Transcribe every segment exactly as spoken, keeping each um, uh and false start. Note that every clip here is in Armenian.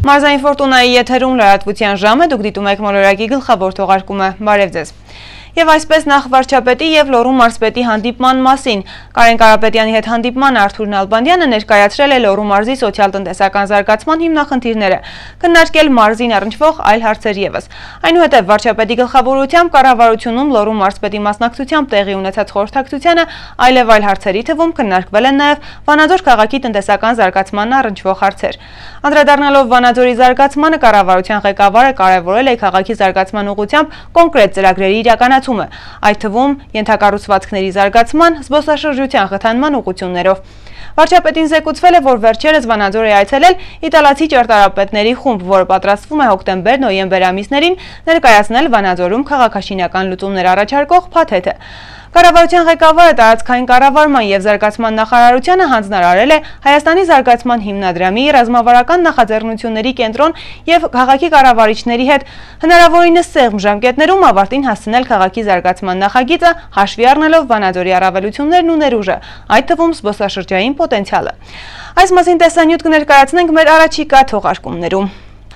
Մարզային Ֆորտունայի եթերում լրատվության ժամը, դուք դիտում եք մոլորակի գլխավոր թողարկումը, բարև ձեզ։ Եվ այսպես նախ վարչապետի եւ Լոռու մարզպետի հանդիպման մասին։ Կարեն Կարապետյանի հետ հանդիպման Արթուր Նալբանդյանը ներկայացրել է Լոռու մարզի սոցիալ-տնտեսական զարգացման հիմնախնդիրները, քննարկել մարզին առնչվող այլ հարցեր եւս։ Այնուհետև վարչապետի գլխավորությամբ կառավարությունում Լոռու մարզպետի մասնակցությամբ տեղի ունեցած խորհրդակցությանը այլև այլ հարցերի թվում քննարկվել են նաեւ Վանաձոր քաղաքի տնտեսական զարգացմանն առնչվող հարցեր։ Անդրադառնալով Վանաձորի զարգացմանը, կառավարության ղեկավարը կարևորել է քաղաքի զարգացման ուղղությամբ կոնկրետ ծրագրերի իրականացումը, այդ թվում ենթակառուցվածքների զարգացման, զբոսաշրջության խթանման ուղղություններով։ Վարչապետին զեկուցվել է, որ վերջերս Վանաձոր է այցելել իտալացի ճարտարապետների խումբ, որը պատրաստվում է հոկտեմբեր-նոյեմբեր ամիսներին ներկայացնել Վանաձորում քաղաքաշինական լուծումներ առաջարկող փաթեթը։ Կառավարության ղեկավարը տարածքային կառավարման եւ զարգացման նախարարությանը հանձնարարել է Հայաստանի զարգացման հիմնադրամի ռազմավարական նախաձեռնությունների կենտրոն եւ քաղաքի կառավարիչների հետ հնարավորինս սեղմ ժամկետներում ավարտին հասցնել քաղաքի զարգացման նախագիծը, հաշվի առնելով Վանաձորի առավելություններն ու ներուժը, այդ թվում զբոսաշրջային պոտենցիալը։ Այս մասին տեսանյութ կներկայացնենք մեր առաջիկա թողարկումներում։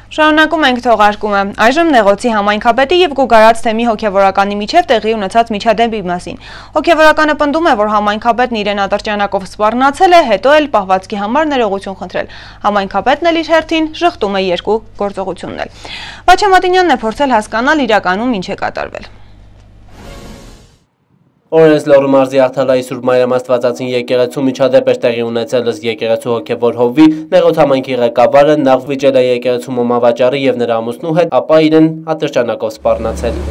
Շարունակում ենք թողարկումը։ Այժմ Նեղոցի համայնքապետի եւ Գուգարաց թեմի հոգեվորականի միջև տեղի ունեցած միջադեպի մասին։ Հոգեվորականը պնդում է, որ համայնքապետն իրեն ատրճանակով սպառնացել է, հետո էլ պահվածքի համար ներողություն խնդրել։ Համայնքապետն էլ իր հերթին ժխտում է երկու գործողությունն էլ։ Վաչե Մատինյանն է փորձել հասկանալ իրականում ինչ է կատարվել։ Օրենս Լոռու մարզի Աղթալայի Սուրբ Մարիամ Աստվածածին եկեղեցու միջադեպ էր տեղի ունեցել ըստ եկեղեցու հոգևոր հովվի, Նեղոց համայնքի ղեկավարը նախ վիճել է եկեղեցու մոմավաճառի եւ նրա ամուսնու հետ, ապա իրեն ատրճանակով սպառնացել։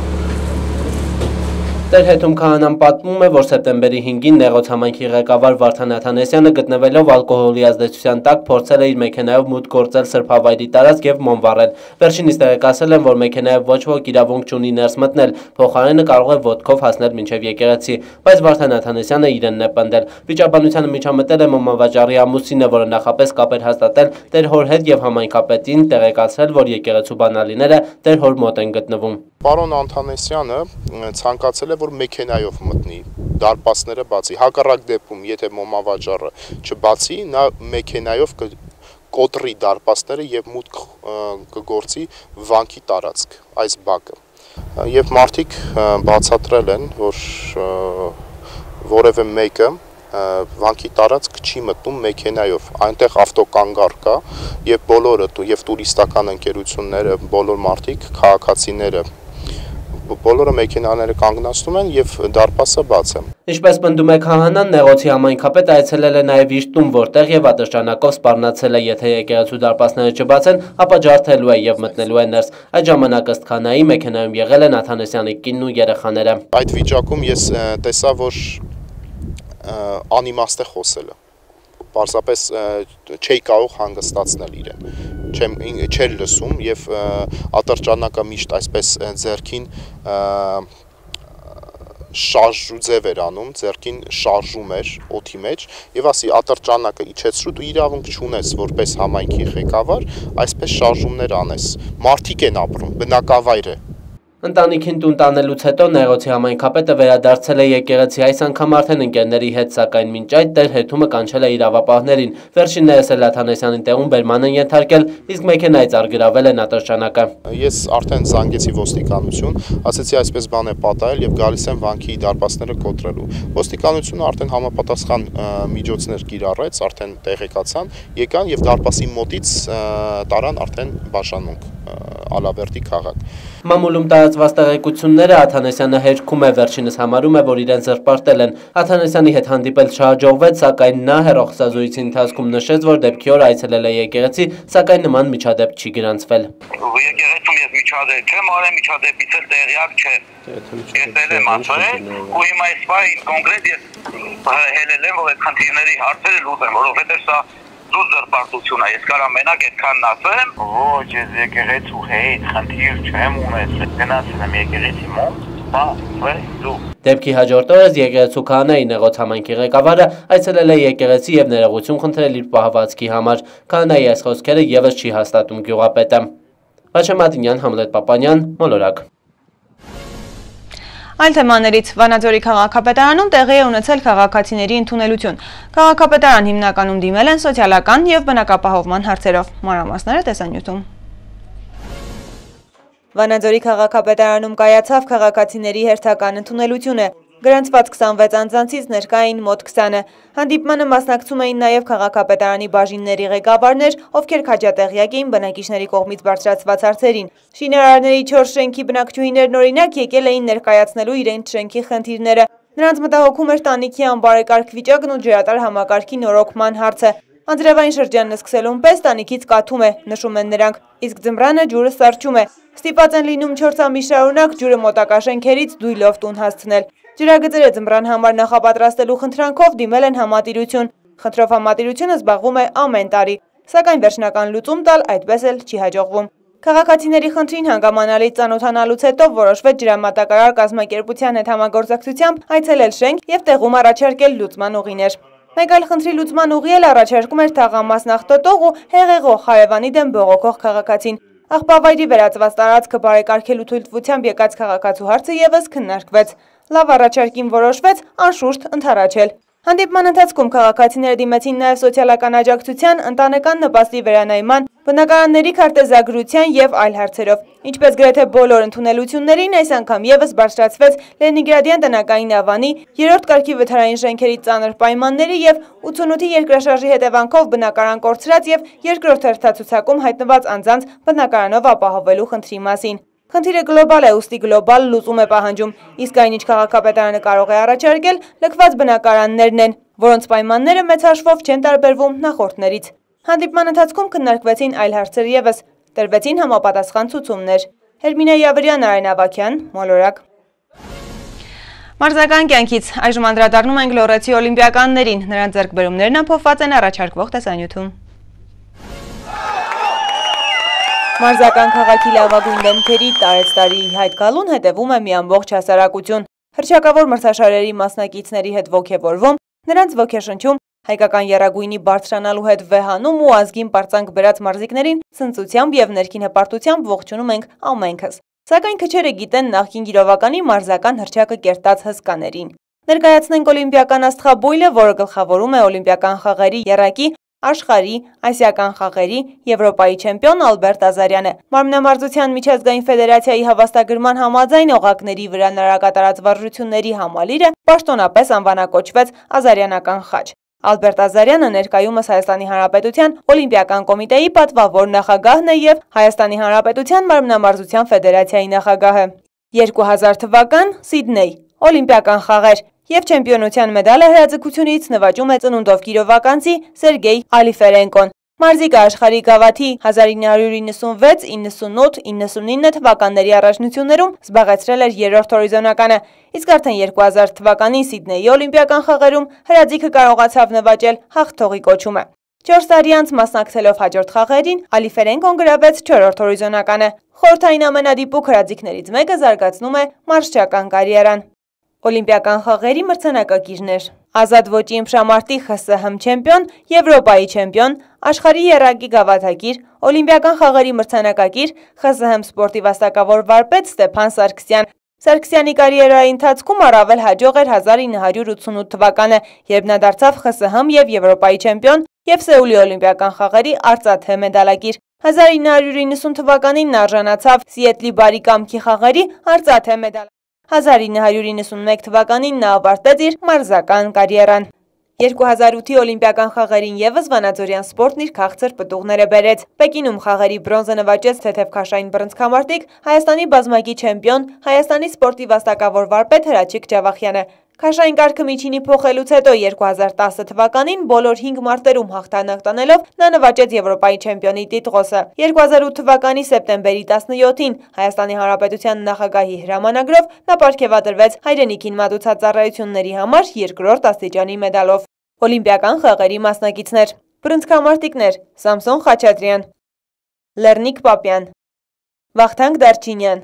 Տեր հետում քահանան պատմում է, որ սեպտեմբերի հինգին Նեղոց համայնքի ղեկավար Վարդան Աթանեսյանը գտնվելով ալկոհոլի ազդեցության տակ փորձել է իր մեքենայով մուտք գործել սրբավայրի տարածք եւ մոմ վառել։ Վերջինիս տեղեկացել են, որ մեքենայով ոչ ոք իրավունք չունի ներս մտնել, փոխարենը կարող է ոտքով հասնել մինչեւ եկեղեցի, բայց Վարդան Աթանեսյանը իրենն է պնդել։ Վիճաբանությանը միջամտել է մոմավաճառի ամուսինը, որը նախապես կապ էր հաստատել Տեր հոր հետ եւ համայնքապետին տեղեկացրել, որ եկեղեցու բանալիները Տեր հոր մոտ են գտնվում։ Պարոն Աթանեսյանը ցանկացել է, որ մեքենայով մտնի, դարպասները բացի, հակառակ դեպքում, եթե մոմավաճառը չբացի, նա մեքենայով կոտրի դարպասները եւ մուտք կգործի վանքի տարածք, այս բակը։ Եվ մարդիկ բացատրել են, որ որևէ մեկը վանքի տարածք չի մտնում մեքենայով, այնտեղ ավտոկանգար կա եւ բոլորը եւ տուրիստական ընկերությունները, բոլոր մարդիկ, քաղաքացիները բոլորը մեքենաները կանգնացնում են եւ դարպասը բաց է։ Ինչպես պնդում է քահանան, Նեղոցի համայնքապետը այցելել է նաեւ իր տուն, որտեղ եւ ատրճանակով սպառնացել է, եթե եկեղեցու դարպասները չբացեն, ապա ջարդելու է եւ մտնելու է ներս։ Այդ ժամանակ ըստ քահանայի մեքենայում եղել են Աթանեսյանի կինն ու երեխաները։ Այդ վիճակում ես տեսա, որ անիմաստ է խոսելը։ Պարզապես չի կարող հանգստացնել իրեն, չէր լսում եւ ատրճանակը միշտ այսպես ձեռքին շարժուձև էր անում, ձեռքին շարժում էր օդի մեջ եւ ասի ատրճանակը իջեցրու, դու իրավունք չունես որպես համայնքի ղեկավար այսպես շարժումներ անես։ Մարդիկ են ապրում, բնակավայր է։ Ընտանիքին տուն տանելուց հետո Նեղոցի համայնքապետը վերադարձել է եկեղեցի, այս անգամ արդեն ընկերների հետ, սակայն մինչ այդ Տեր հետումը կանչել է իրավապահներին։ Վերջիններս էլ Աթանեսյանին տեղում բերման են ենթարկել, իսկ մեքենայից արգրավել են ատրճանակը։ Ես արդեն զանգեցի ոստիկանություն, ասեցի այսպես բան է պատահել եւ գալիս են վանքի դարպասները կոտրելու։ Ոստիկանությունը արդեն համապատասխան միջոցներ կիրառեց, արդեն տեղեկացան, եկան եւ դարպասի մոտից տարան արդեն Բաշանունք, Ալավերդի քաղաք։ Մամուլում տարածված տեղեկությունները Աթանեսյանը հերքում է, վերջինս համարում է, որ իրեն զրպարտել են։ Աթանեսյանի հետ հանդիպել չհաջողվեց, սակայն նա հեռախոսազրույցի ընթացքում նշեց, որ դեպքի օր այցելել է եկեղեցի, սակայն նման միջադեպ չի գրանցվել։ Եկեղեցում ես միջադեպ չեմ արել, միջադեպից էլ տեղյակ չեմ։ Ես եմ ասել, ու հիմա այս բանը կոնկրետ ես հելել եմ, որ այդ խնդիրների հարցերը լուծեմ, որովհետև սա դուր զրպարտություն է, ես կարամ մենակ այդքանն ասեմ։ Ոչ, ես եկեղեցու հետ խնդիր չեմ ունեցել, գնացել եմ եկեղեցի մոտ, բա, դու։ Դեպքի հաջորդ օրս եկեղեցու քահանայի Նեղոց համայնքի ղեկավարը այցելել է եկեղեցի եւ ներողություն խնդրել իր պահվածքի համար։ Քահանայի այս խոսքերը եւս չի հաստատում գյուղապետը։ Վաչե Մատինյան, Համլետ Պապանյան, Մոլորակ։ Այլ թեմաներից Վանաձորի քաղաքապետարանում տեղի է ունեցել քաղաքացիների ընդունելություն։ Քաղաքապետարան հիմնականում դիմել են սոցիալական և բնակապահովման հարցերով։ Մանրամասները տեսանյութում։ Վանաձորի քաղաքապետարանում կայացավ քաղաքացիների հերթական ընդունելությունը։ Գրանցված քսանվեց անձանցից ներկա էին մոտ քսանը։ Հանդիպմանը մասնակցում էին նաև քաղաքապետարանի բաժինների ղեկավարներ, ովքեր քաջատեղյակ էին բնակիչների կողմից բարձրացված հարցերին։ Շինարարների չորս շենքի բնակչուհիներն օրինակ եկել էին ներկայացնելու իրենց շենքի խնդիրները։ Նրանց մտահոգում էր տանիքի անբարեկարգ վիճակն ու ջրատար համակարգի նորոգման հարցը։ Անձրևային շրջանն սկսելուն պես տանիքից կաթում է, նշում են նրանք, իսկ ձմռանը ջուրը սարճում է։ Ստիպված են լինում չորս ամիս շարունակ ջուրը մոտակա շենքերից դույլով տուն հասցնել։ Ջրագծերը ձմռան համար նախապատրաստելու խնդրանքով դիմել են համատիրություն։ Խնդրով համատիրությունը զբաղվում է ամեն տարի, սակայն վերջնական լուծում տալ այդպես էլ չի հաջողվում։ Քաղաքացիների խնդրին հանգամանալից ծանոթանալուց հետո որոշվեց ջրամատակարար կազմակերպության հետ համագործակցությամբ այցելել շենք և տեղում առաջարկել լուծման ուղիներ։ Մեկ այլ խնդրի լուծման ուղի էլ առաջարկում էր թաղամաս նախտոտող ու հեղեղող հարևանի դեմ բողոքող քաղաքացին։ Աղբավայրի վերածված տարածքը բարեկարգելու թույլտվությամբ եկած քաղաքացու հարցը ևս քննարկվեց։ Լավ առաջարկին որոշվեց անշուշտ ընդառաջել։ Հանդիպման ընթացքում քաղաքացիները դիմեցին նաև սոցիալական աջակցության, ընտանեկան նպաստի վերանայման, բնակարանների քարտեզագրության և այլ հարցերով։ Ինչպես գրեթե բոլոր ընդունելություններին, այս անգամ ևս բարձրացվեց Լենինգրադյան տնակային ավանի, երրորդ կարգի վթարային շենքերի ծանր պայմանների և ութսունութի երկրաշարժի հետևանքով բնակարան կորցրած և երկրորդ հերթացուցակում հայտնված անձանց բնակարանով ապահովելու խնդրի մասին։ Խնդիրը գլոբալ է, ուստի գլոբալ լուծում է պահանջում, իսկ այնինչ քաղաքապետարանը կարող է առաջարկել, լքված բնակարաններն են, որոնց պայմանները մեծ հաշվով չեն տարբերվում նախորդներից։ Հանդիպման ընթացքում քննարկվեցին այլ հարցեր ևս, տրվեցին համապատասխան ցուցումներ։ Հերմինե Յավրյան, Արեն Ավագյան, Մոլորակ։ Մարզական կյանքից այժմ անդրադառնում ենք Լոռեցի օլիմպիականներին, նրանց ձեռքբերումներն ամփոփված են առաջարկվող տեսանյութում։ Մարզական քաղաքի լավագույն դեմքերի տարեց տարի հայտ գալուն հետևում է մի ամբողջ հասարակություն։ Հռչակավոր մրցաշարերի մասնակիցների հետ ոգևորվում, նրանց ոգեշնչում, հայկական եռագույնի բարձրանալու հետ վեհանում ու ազգին պարծանք բերած մարզիկներին ցնծությամբ և ներքին հպարտությամբ ողջունում ենք ամենքս։ Սակայն քչերը գիտեն նախկին գիրովականի մարզական հռչակը կերտած հսկաներին։ Ներկայացնենք օլիմպիական աստղաբույլը, որը գլխավորում է օլիմպիական խաղերի եռակի, աշխարհի, ասիական խաղերի, Եվրոպայի չեմպիոն Ալբերտ Ազարյանը։ Մարմնամարզության միջազգային ֆեդերացիայի հավաստագրման համաձայն օղակների վրա նրակատարած վարժությունների համալիրը պաշտոնապես անվանակոչվեց Ազարյանական խաչ։ Ալբերտ Ազարյանը ներկայումս Հայաստանի Հանրապետության Օլիմպիական կոմիտեի պատվավոր նախագահն է և Հայաստանի Հանրապետության մարմնամարզության ֆեդերացիայի նախագահը։ երկու հազար թվական Սիդնեյ օլիմպիական խաղեր և չեմպիոնության մեդալը հրաձգությունից նվաճում է ծնունդով կիրովականցի Սերգեյ Ալիֆերենկոն։ Մարզիկը աշխարհի գավաթի հազար ինը հարյուր իննսունվեց, իննսունութ, իննսունինը թվականների առաջնություններում զբաղեցրել էր երրորդ հորիզոնականը, իսկ արդեն երկու հազար թվականին Սիդնեյի օլիմպիական խաղերում հրաձիգը կարողացավ նվաճել հաղթողի կոչումը։ Չորս տարի անց մասնակցելով հաջորդ խաղերին, Ալիֆերենկոն գրավեց չորրորդ հորիզոնականը։ Խորհրդային ամենադիպուկ հրաձիգներից մեկը զարգացնում է մարզչական կարիերան։ Օլիմպիական խաղերի մրցանակակիրներ։ Ազատ ոճի ըմբշամարտի Խ Ս Հ չեմպիոն, Եվրոպայի չեմպիոն, աշխարհի եռակի գավաթակիր, օլիմպիական խաղերի մրցանակակիր, Խ Ս Հ սպորտի վաստակավոր վարպետ Ստեփան Սարգսյան։ Սարգսյանի կարիերայի ընթացքում առավել հաջող էր հազար ինը հարյուր ութսունութ թվականը, երբ նա դարձավ Խ Ս Հ և Եվրոպայի չեմպիոն և Սեուլի օլիմպիական խաղերի արծաթե մեդալակիր։ հազար ինը հարյուր իննսուն թվականին նա արժանացավ Սիեթլի բարի կամքի խաղերի արծաթե մեդալ։ հազար ինը հարյուր իննսունմեկ թվականին նա ավարտեց իր մարզական կարիերան։ երկու հազար ութի օլիմպիական խաղերին ևս վանաձորյան սպորտն իր քաղցր պտուղները բերեց։ Պեկինում խաղերի բրոնզը նվաճեց թեթև բռնցքամարտիկ Հայաստանի բազմակի չեմպիոն, Հայաստանի սպորտի վաստակավոր վարպետ Հրաչիկ Ջավախյանը։ Քաշային կարգը միջինի փոխելուց հետո երկու հազար տասը թվականին բոլոր հինգ մարտերում հաղթանակ տանելով նա նվաճեց Եվրոպայի չեմպիոնի տիտղոսը։ երկու հազար ութ թվականի սեպտեմբերի տասնյոթին Հայաստանի Հանրապետության նախագահի հրամանագրով նա պարգևատրվեց հայրենիքին մատուցած ծառայությունների համար երկրորդ աստիճանի մեդալով։ Օլիմպիական խաղերի մասնակիցներ։ Բռնցքամարտիկներ՝ Սամսոն Խաչատրյան, Լեռնիկ Պապյան, Վախթանգ Դարչինյան,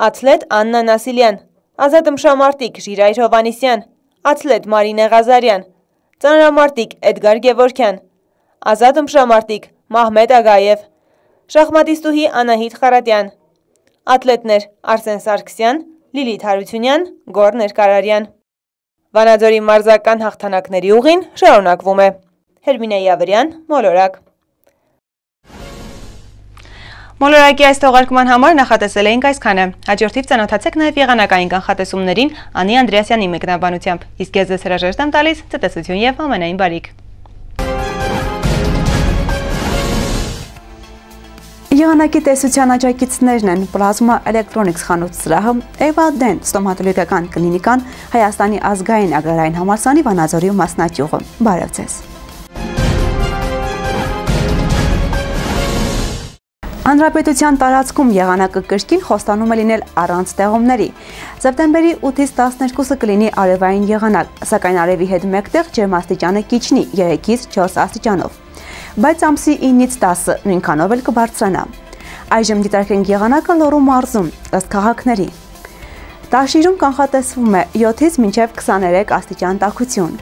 աթլետ Աննա Նասիլյան, ազատ ըմբշամարտիկ Ժիրայր Հովհաննիսյան, աթլետ Մարինե Ղազարյան, ծանրամարտիկ Էդգար Գևորգյան, ազատ ըմբշամարտիկ Մահմեդ Ագաև, շախմատիստուհի Անահիտ Խարատյան, աթլետներ Արսեն Սարգսյան, Լիլիթ Հարությունյան, Գոռ Ներկարարյան։ Վանաձորի մարզական հաղթանակների ուղին շարունակվում է։ Հերմինե Յավրյան, մոլորակ։ Մոլորակի այս թողարկման համար նախատեսել էինք այսքանը։ Հաջորդիվ ծանոթացեք նաև եղանակային կանխատեսումներին Անի Անդրեասյանի մեկնաբանությամբ, իսկ ես ձեզ հրաժեշտ եմ տալիս ցտեսություն եւ ամենայն բարիք։ Եղանակի տեսության աջակիցներն են Պլազմա Էլեկտրոնիկս խանութ սրահը, Էվա Դենտ ստոմատոլոգիական կլինիկան, Հայաստանի ազգային agrարային համալսարանի Վանաձորի մասնաճյուղը։ Բարև ձեզ։ Հանրապետության տարածքում եղանակը կրկին խոստանում է լինել առանց տեղումների։ Սեպտեմբերի ութից տասներկուսը կլինի արևային եղանակ, սակայն արևի հետ մեկտեղ ջերմաստիճանը կիջնի երեքից չորս աստիճանով։ Բայց ամսի ինից տասը նույնքանով էլ կբարձրանա։ Այժմ դիտարկենք եղանակը Լոռու մարզում, ըստ քաղաքների։ Տաշիրում կանխատեսվում է յոթից մինչև քսաներեք աստիճան տաքություն։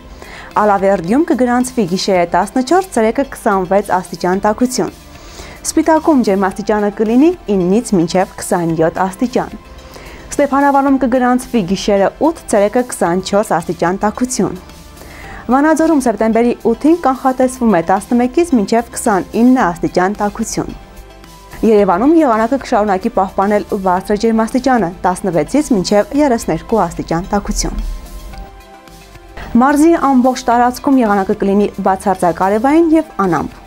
Ալավերդիում կգրանցվի գիշերը տասնչորս, ցերեկը քսանվեց աստիճան տաքություն։ Սպիտակում ջերմաստիճանը կլինի ինից մինչև քսանյոթ աստիճան։ Ստեփանավանում կգրանցվի գիշերը ութ, ցերեկը քսանչորս աստիճան տաքություն։ Վանաձորում սեպտեմբերի ութին կանխատեսվում է տասնմեկից մինչև քսանինը աստիճան տաքություն։ Երևանում եղանակը կշարունակի պահպանել բարձր ջերմաստիճանը տասնվեցից մինչև երեսներկու աստիճան տաքություն։ Մարզի ամբողջ տարածքում եղանակը կլինի բացարձակ արևային եւ անամպ։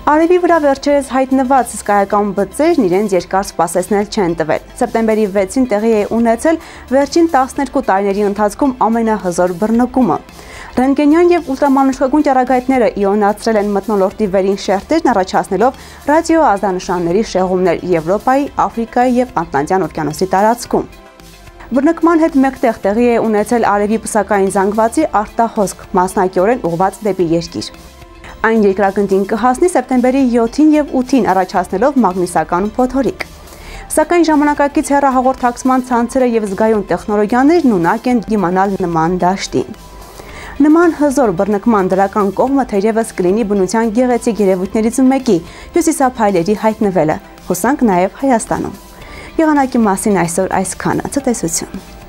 Արևի վրա վերջերս հայտնված հսկայական բծերն իրենց երկար սպասեցնել չեն տվել։ Սեպտեմբերի վեցին տեղի է ունեցել վերջին տասներկու տարիների ընթացքում ամենահզոր բռնկումը։ Ռենտգենյան եւ ուլտրամանուշկագույն ճառագայթները իոնացրել են մթնոլորտի վերին շերտերն, առաջացնելով ռադիոազդանշանների շեղումներ Եվրոպայի, Աֆրիկայի եւ Ատլանտյան օվկիանոսի տարածքում։ Բռնկման հետ մեկտեղ տեղի է ունեցել արևի պսակային զանգվածի արտահոսք, մասնակիորեն ուղղված դեպի երկիր։ Այն երկրագնդին կհասնի սեպտեմբերի յոթին եւ ութին, առաջացնելով մագնիսական փոթորիկ։ Սակայն ժամանակակից հեռահաղորդակցման ցանցերը եւ զգայուն տեխնոլոգիաներն ունակ են դիմանալ նման դաշտին։ Նման հզոր բռնկման դրական կողմը թերևս կլինի բնության գեղեցիկ երևույթներից մեկի՝ հյուսիսափայլերի հայտնվելը, հուսանք նաև Հայաստանում։ Եղանակի մասին այսօր այսքանը, ցտեսություն։